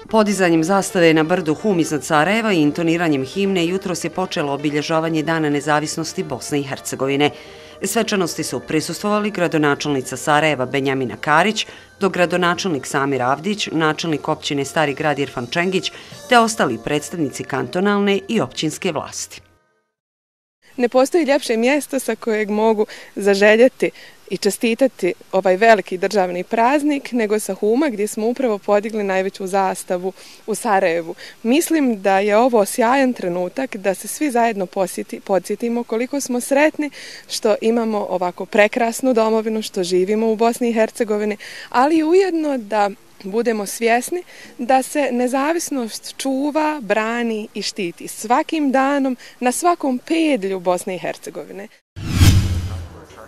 Podizanjem zastave na brdu Hum iznad Sarajeva i intoniranjem himne jutros je počelo obilježavanje Dana nezavisnosti Bosne i Hercegovine. Svečanosti su prisustvovali gradonačelnica Sarajeva Benjamina Karić, dogradonačelnik Samir Avdić, načelnik općine Stari grad Irfan Čengić, te ostali predstavnici kantonalne i općinske vlasti. Ne postoji ljepše mjesto sa kojeg mogu zaželjeti i čestitati ovaj veliki državni praznik nego sa Huma, gdje smo upravo podigli najveću zastavu u Sarajevu. Mislim da je ovo sjajan trenutak da se svi zajedno podsjetimo koliko smo sretni što imamo ovako prekrasnu domovinu, što živimo u Bosni i Hercegovini, ali ujedno da budemo svjesni da se nezavisnost čuva, brani i štiti svakim danom na svakom pedlju Bosne i Hercegovine.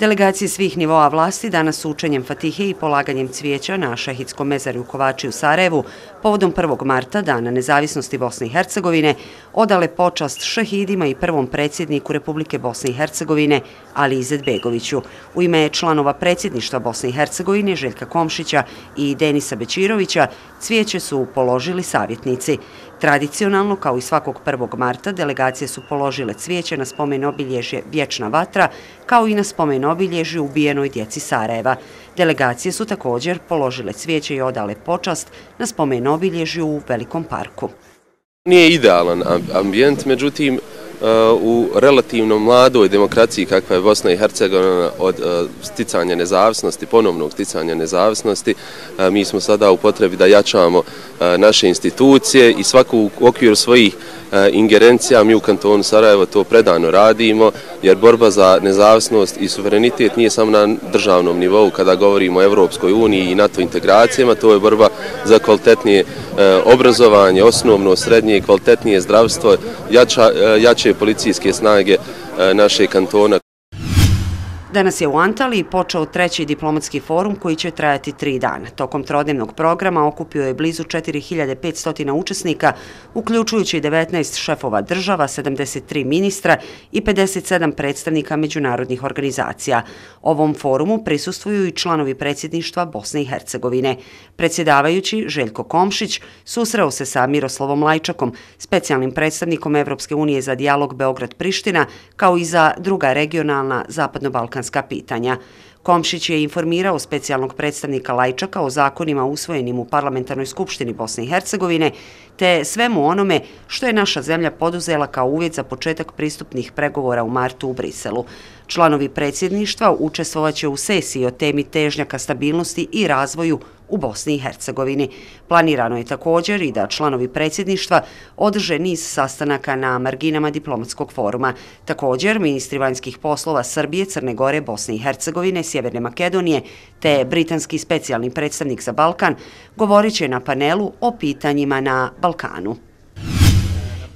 Delegacije svih nivoa vlasti danas su učenjem Fatihe i polaganjem cvijeća na Šehitskom mezarju Kovači u Sarajevu povodom 1. marta, Dana nezavisnosti Bosne i Hercegovine, odale počast šehidima i prvom predsjedniku Republike Bosne i Hercegovine, Ali Izetbegoviću. U ime članova predsjedništva Bosne i Hercegovine, Željka Komšića i Denisa Bećirovića, cvijeće su položili savjetnici. Tradicionalno, kao i svakog 1. marta, delegacije su položile cvijeće na spomen obilježje Vječna vatra, kao i na spomen obilježje ubijenoj djeci Sarajeva. Delegacije su također položile cvijeće i odale počast na spomen obilježju u Velikom parku. Nije idealan ambijent, međutim, u relativno mladoj demokraciji kakva je Bosna i Hercegovina od sticanja nezavisnosti, ponovnog sticanja nezavisnosti, mi smo sada u potrebi da jačamo naše institucije i svaku u okviru svojih ingerencija. Mi u kantonu Sarajevo to predano radimo, jer borba za nezavisnost i suverenitet nije samo na državnom nivou kada govorimo o Evropskoj uniji i NATO integracijama, to je borba za kvalitetnije obrazovanje, osnovno, srednje, kvalitetnije zdravstvo, jače policijske snage našeg kantona. Danas je u Antaliji počeo 3. diplomatski forum koji će trajati 3 dana. Tokom trodnevnog programa okupio je blizu 4500 učesnika, uključujući 19 šefova država, 73 ministra i 57 predstavnika međunarodnih organizacija. Ovom forumu prisustvuju i članovi predsjedništva Bosne i Hercegovine. Predsjedavajući Željko Komšić susreo se sa Miroslavom Lajčakom, specijalnim predstavnikom Evropske unije za dijalog Beograd-Priština, kao i za druga regionalna zapadno-balkanska pitanja. Komšić je informirao specijalnog predstavnika Lajčaka o zakonima usvojenim u Parlamentarnoj skupštini Bosne i Hercegovine, te svemu onome što je naša zemlja poduzela kao uvjet za početak pristupnih pregovora u martu u Briselu. Članovi predsjedništva učestvovaće u sesiji o temi težnja ka stabilnosti i razvoju u Bosni i Hercegovini. Planirano je također i da članovi predsjedništva održe niz sastanaka na marginama diplomatskog foruma. Također, ministri vanjskih poslova Srbije, Crne Gore, Bosne i Hercegovine, Sjeverne Makedonije te britanski specijalni predstavnik za Balkan govorit će na panelu o pitanjima na Balkanu.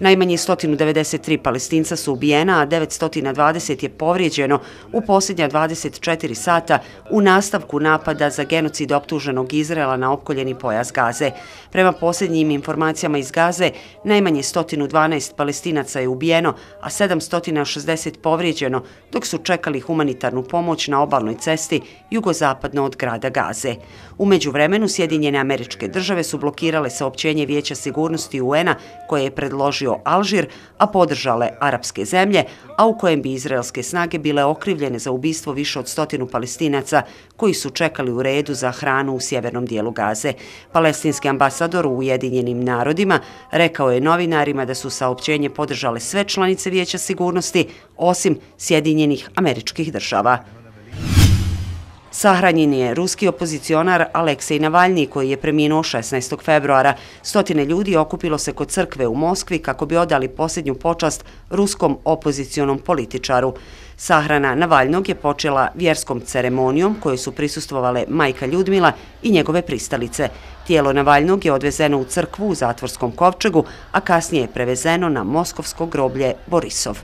Najmanje 193 Palestinca su ubijena, a 920 je povrijeđeno u posljednja 24 sata u nastavku napada za genocid optuženog Izraela na opkoljeni pojas Gaze. Prema posljednjim informacijama iz Gaze, najmanje 112 Palestinaca je ubijeno, a 760 povrijeđeno, dok su čekali humanitarnu pomoć na obalnoj cesti jugozapadno od grada Gaze. U međuvremenu, Sjedinjene Američke Države su blokirale saopćenje Vijeća sigurnosti UN-a koje je predložio Alžir, a podržale arapske zemlje, a u kojem bi izraelske snage bile okrivljene za ubistvo više od 100 Palestinaca koji su čekali u redu za hranu u sjevernom dijelu Gaze. Palestinski ambasador u Ujedinjenim narodima rekao je novinarima da su saopćenje podržale sve članice Vijeća sigurnosti, osim Sjedinjenih Američkih Država. Sahranjen je ruski opozicionar Aleksej Navalni, koji je preminuo 16. februara. Stotine ljudi okupilo se kod crkve u Moskvi kako bi odali posljednju počast ruskom opozicionom političaru. Sahrana Navalnog je počela vjerskom ceremonijom kojoj su prisustvovale majka Ljudmila i njegove pristalice. Tijelo Navalnog je odvezeno u crkvu u zatvorskom kovčegu, a kasnije je prevezeno na moskovsko groblje Borisov.